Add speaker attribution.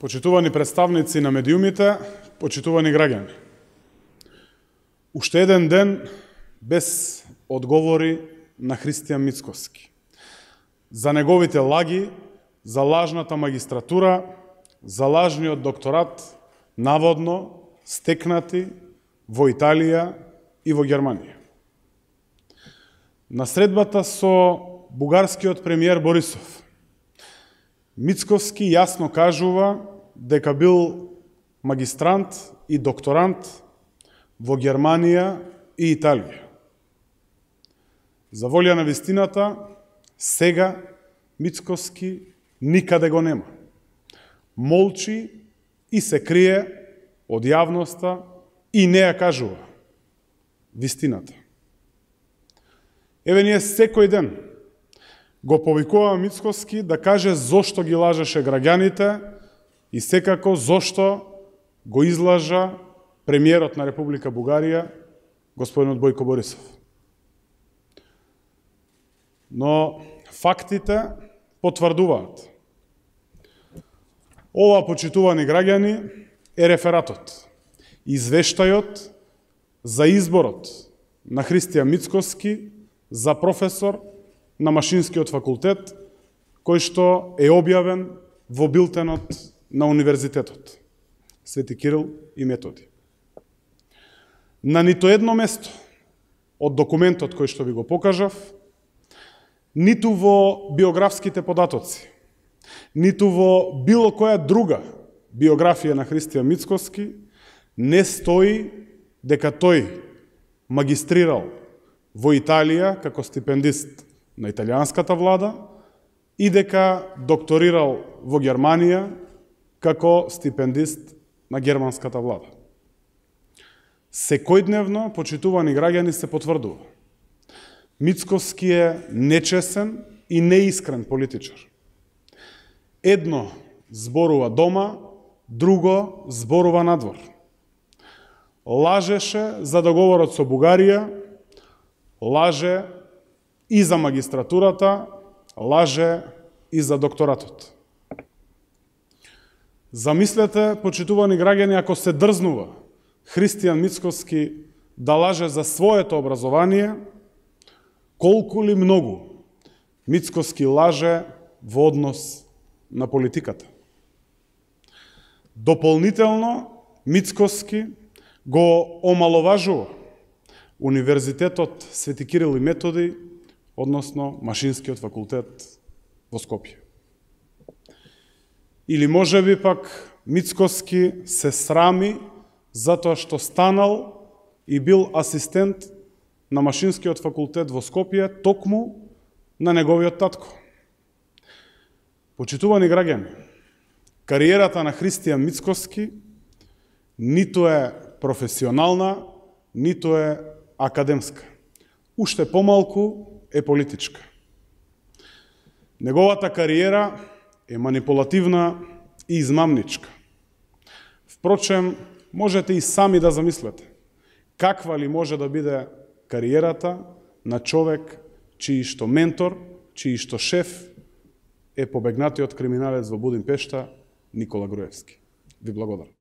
Speaker 1: Почитувани представници на медиумите, почитувани граѓани. Уште еден ден без одговори на Христијан Мицкоски. За неговите лаги, за лажната магистратура, за лажниот докторат, наводно стекнати во Италија и во Германија. На средбата со бугарскиот премиер Борисов, Мицкоски јасно кажува дека бил магистрант и докторант во Германија и Италија. За волја на вистината, сега Мицкоски никаде го нема. Молчи и се крие од јавноста и не ја кажува вистината. Еве ние секој ден го повикуваме Мицкоски да каже зошто ги лажеше граѓаните и секако зошто го излажа премиерот на Република Бугарија, господинот Бојко Борисов. Но фактите потврдуваат. Ова, почитувани граѓани, е рефератот, извештајот за изборот на Христијан Мицкоски за професор на Машинскиот факултет, кој што е објавен во билтенот на Универзитетот Свети Кирил и Методи. На нито едно место од документот кој што ви го покажав, ниту во биографските податоци, ниту во било која друга биографија на Христијан Мицкоски не стои дека тој магистрирал во Италија како стипендист на италијанската влада и дека докторирал во Германија како стипендист на германската влада. Секојдневно, почитувани граѓани, се потврдува. Мицкоски е нечесен и неискрен политичар. Едно зборува дома, друго зборува надвор. Лажеше за договорот со Бугарија, лаже и за магистратурата, лаже и за докторатот. Замислете, почитувани граѓани, ако се дрзнува Христијан Мицкоски да лаже за своето образование, колку ли многу Мицкоски лаже во однос на политиката. Дополнително, Мицкоски го омаловажува Универзитетот Свети Кирил и Методи, односно Машинскиот факултет во Скопје. Или можеби пак Мицкоски се срами затоа што станал и бил асистент на Машинскиот факултет во Скопје токму на неговиот татко. Почитувани граѓани, кариерата на Христијан Мицкоски ниту е професионална, ниту е академска. Уште помалку е политичка. Неговата кариера е манипулативна и измамничка. Впрочем, можете и сами да замислете каква ли може да биде кариерата на човек чиј што ментор, чиј што шеф е побегнатиот криминалец во Будимпешта Никола Груевски. Ви благодарам.